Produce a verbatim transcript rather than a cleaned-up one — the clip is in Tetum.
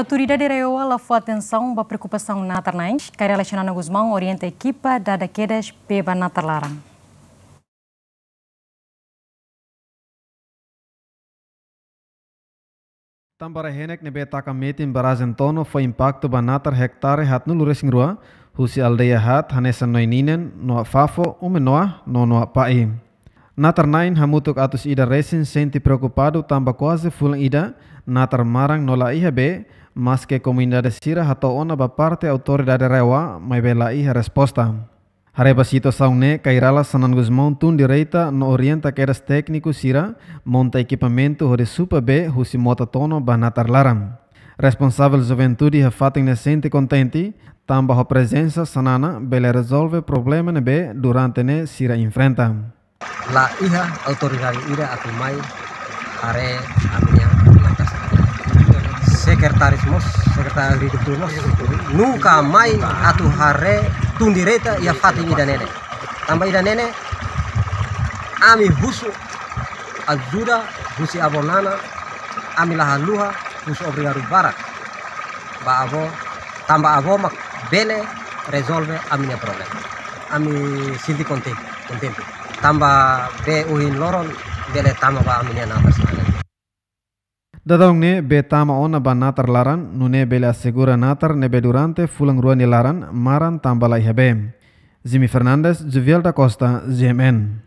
Autoridade RAEOA la fó atensaun ba preokupasaun natar-na'in, Kay Rala Xanana Gusmão orienta ekipa dada kedas bee ba natar laran. Tanba rai-henek ne'ebé taka metin barrajen Tono fó impaktu ba natar hektare haatnulu-resin-rua, husi aldeia haat hanesan Noininen, Noa Fafo, Ume Noa, no Noa Pa'i. Natar-na'in hamutuk atus ida resin sente preokupadu tanba kuaze fulan ida, natar maran no la iha bee, maske komunidade sira hato'o ona ba parte autoridade RAEOA, maibé la iha resposta. Haree ba situasaun ne'e, Kay Rala Xanana Gusmão tun direta no orienta kedas tékniku sira monta ekipamentu hodi supa bee husi mota Tono ba natar laran. Responsavel juventude iha fatin ne'e sente kontente, tanba ho prezensa Xanana bele rezolve problema ne'ebé durante ne'e sira enfrenta. La iha autoridade ida atu mai haree ami-nia natar. Sekretáriu mós, sekretáriu agrikultura mós, nunka mai atu haree tun direta iha fatin ida-ne'e. Tanba ida-ne'e, ami husu ajuda husi avó Nana, ami la haluha, husu obrigadu barak ba avó, tanba avó mak bele rezolve ami-nia problema. Ami sente kontente, kontente. Tanba bee ohin loron bele tama ba ami-nia natar sira-ne'e. Dadaun ne'e bee tama ona ba natar laran, nune'e bele asegura natar ne'ebé durante fulan rua nia laran maran tanba la iha bee. Jimmy Fernandes, Juviel da Costa, G M N.